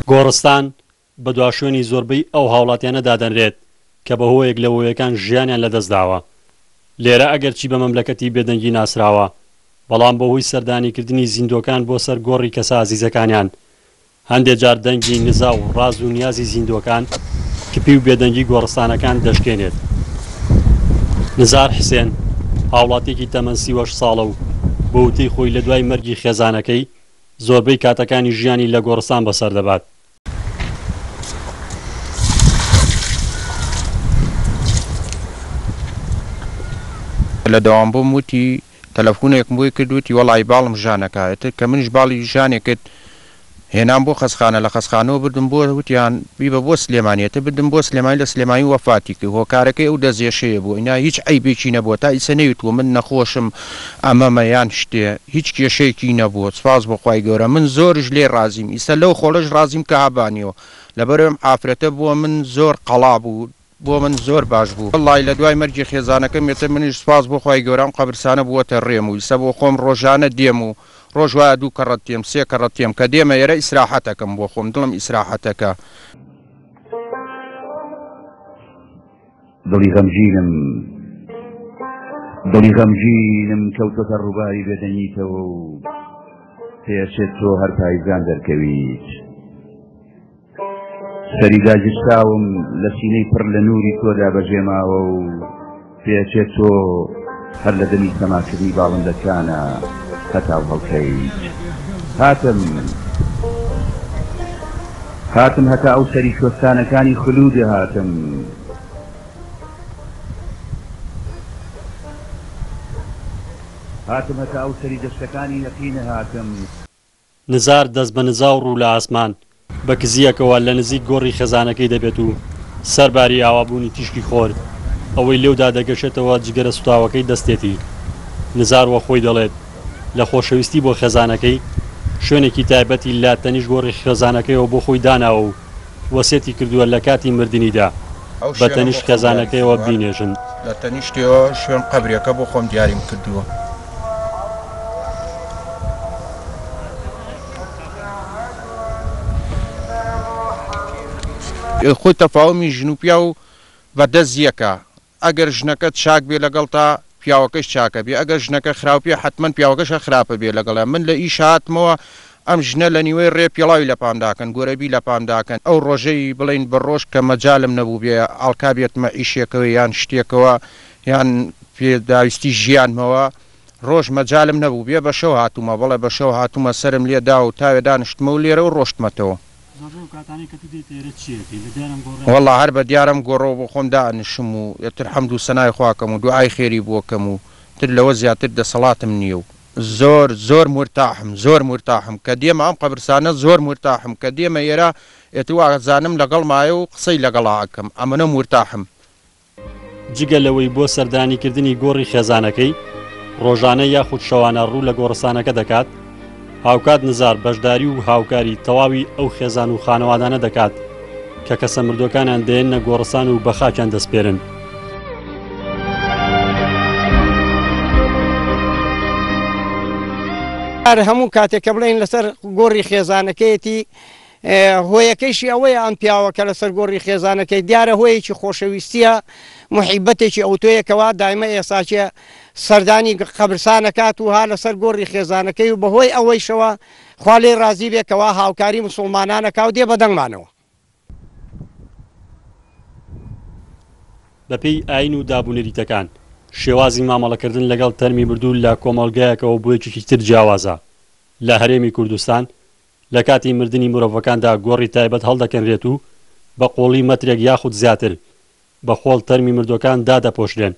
گۆڕستان بە دواشوێنی زۆربەی ئەو هاوڵاتیانە دادەنرێت کە بە هۆیەک لە هۆیەکان ژیانیان لەدەستداوە. لێرە ئەگەرچی بە مەملەکەتی بێدەنگی ناسراوە، بەڵام بەهۆی سەردانیکردنی زیندووەکان بۆ سەر گۆڕی کەسە ئازیزەکانیان، هەندێ جار دەنگی نزا و ڕاز و نیازی زیندووەکان کپی و بێدەنگی گۆڕستانەکان دەشکێنێت. نزار حسێن، هاوڵاتییەکی تەمەن 38 ساڵە و بە وتەی خۆی لە دوای مەرگی خێزانەکەی، زۆربەی کاتەکانی ژیانی لە گۆڕستان بەسەر دەبات. لە دەوام بووم وتی تەلەفونێکم بۆی کرد وتی وەڵایی باڵم ژانەکا ئیتر کە منیش باڵی ژانێ کرد هێنام بۆ خەسخانە لە خەسخانەوە بردم بۆ وتیان بیبە بۆ سلێمانی ئیتر بردم بۆ سلێمانی لە سلێمانی وەفاتی کرد هۆکارەکەی ئەو دەستێشەیە بوو ئینا هیچ عەیبێکی نەبووە تا ئیسە نەیوتووە من نەخۆشم ئەمەمە یان شتێ هیچ کێشەیەکی نەبووە سوپاس بۆ خوای گەورە من زۆرش لێی ڕازیم ئیسە لەو خۆڵەش ڕازیم کە هەبانیەوە لەبەرئەوەی ئەم ئافرەتە بۆ من زۆر قەڵا بوو بۆ من زۆر باش بوو وەڵای لە دوای مەرگی خێزانەکەم ئیتر منیش سوپاس بۆ خوای گەورە ئەم قەبرسانە بووەتە ڕێم و ئیسە بۆ خۆم ڕۆژانە دێم و ڕۆژ وایە دوو کەڕەت دێم سێ کەڕەت دێم کە دێمە ئێرە ئیسراحەتەکەم بۆ خۆم دڵم ئیسراحەتەکە. دڵی غەمگینم دڵی غەمگینم کەوتۆتە ڕووباری بێدەنگیتەوە و پێچێت تۆ هەر پایزان دەرکەویت. سەری داگیرساوم لە سینەی پڕ لە نووری تۆدا بەجێ ماوە و پێچێت تۆ هەر لە دەمی سەماکردنی باڵندەکانە هەتاو هەڵکەیت. هاتم هاتم هەتا ئەو سەری کوێستانەکانی خلوودێ هاتم. هاتم هەتا ئەو سەری دەشتەکانی یەقینە هاتم. نزار دەست بە نزا و ڕوو لە ئاسمان، بە کزییەکەوە لە نزیک گۆڕی خێزانەکەی دەبێت و سەرباری ئاوابوونی تیشکی خۆر، ئەوەی لێودا دەگەشێتەوە جگەرە سوتاوەکەی دەستێتی. نزار وە خۆی دەڵێت، لە خۆشەویستی بۆ خێزانەکەی، شوێنێکی تایبەتی لە تەنیشت گۆڕی خێزانەکەیەوە بۆ خۆی داناوە و وەسێتی کردووە لە کاتی مردنیدا ئەو بە شوێنە بۆ تەنیشت خۆم دیاریم خێزانەکەیەوە کردووە، بینێژن. لە تەنیشتیەوە شوێن قەبرێکە بۆ خۆم دیاریم کردووە. خۆی تەفاومی ژن و پیاو بە دەست یەکە ئەگەر ژنەکەت چاک بێ لەگەڵتا پیاوەکەش چاکە بێ ئەگەر ژنەکە خراپ بێ حەتمەن پیاوەکەش هەر خراپە بێ لەگەڵیا من لە ئیش هاتمەوە ئەم ژنە لە نیوەی ڕێ پێڵاوی لە پام داکەن گۆرەبی لە پام داکەن ئەو ڕۆژەی بڵێین بە ڕۆژ کە مەجالم نەبوو بێ ئاڵکا بێتمە ئیشێکەوە یان شتێکەوە یان پێداویستی ژیانمەوە ڕۆژ مەجالم نەبوو بێ بە شەو هاتوومە بەڵێ بە شەو هاتوومە سەرم لێ دا و تاوێ دانیشتمە و لێرە و ڕۆشتمەتەوە. زۆربەی ئەو کاتانەی کە تو دێیتە ئێرە چی ئەکەی؟ لە دیار ئەم گۆڕە؟ وەڵا هەر بە دیار ئەم گۆڕەوە بۆ خۆم دائەنیشم و ئیتر حەمد و سەنای خوا کەم و دوعای خێری بۆ کەم و تر لەوە زیاتر دەسەڵاتم نییە و زۆر زۆر مورتاحم زۆر مورتاحم کە دێمە ئەم قەبرسانە زۆر مورتاحم کە دێمە ئێرە ئیتر وازانم لەگەڵمایە و قسەی لەگەڵا ئەکەم ئەمنە مورتاحم. جگە لەوەی بۆ سەردانیکردنی گۆڕی خێزانەکەی ڕۆژانە یاخود شەوانە ڕوو لە گۆڕستانەکە دەکات، هاوکات نزار بەشداری و هاوکاری تەواوی ئەو خێزان و خانەوادانە دەکات کە کەسە مردووەکانیان دەیەننە گۆڕستان و بە خاکیان دەسپێرن. هەموو کاتێک کە بڵێین لەسەر گۆڕی خێزانەکەیەتی هۆیەکەیشی ئەوەیە ئەم پیاوە کە لەسەر گۆڕی خێزانەکەی دیارە هۆیەکی خۆشەویستیە موحیبەتێکی ئەوتۆیە کەوا دایمە ئێساکێ سەردانی قەبرسانەکات و ها لەسەر گۆڕی خێزانەکەی و بەهۆی ئەوەیشەوە خوا لێی ڕازی بێ کەوا هاوکاری موسوڵمانانەکا و دێ بەدەنگمانەوە. بەپێی ئایین و دابونەریتەکان، شێوازی مامەڵەکردن لەگەڵ تەرمی مردوو لە کۆمەڵگایەکەوە بۆ یەکێکی تر جیاوازە. لە هەرێمی کوردستان، لە کاتی مردنی مرۆڤەکاندا گۆڕی تایبەت هەڵدەکەنرێت و بە قووڵی مەترێک یاخود زیاتر بە خۆڵ تەرمی مردووەکان دادەپۆشرێن.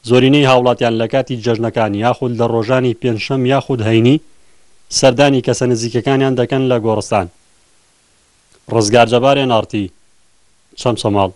زۆرینەی هاوڵاتیان لە کاتی جەژنەکان یاخود لە ڕۆژانی پێنجشەم یاخود هەینی سەردانی کەسە نزیکەکانیان دەکەن لە گۆڕستان. ڕزگار جەبار ئێن ئاڕ تی، چەمچەماڵ.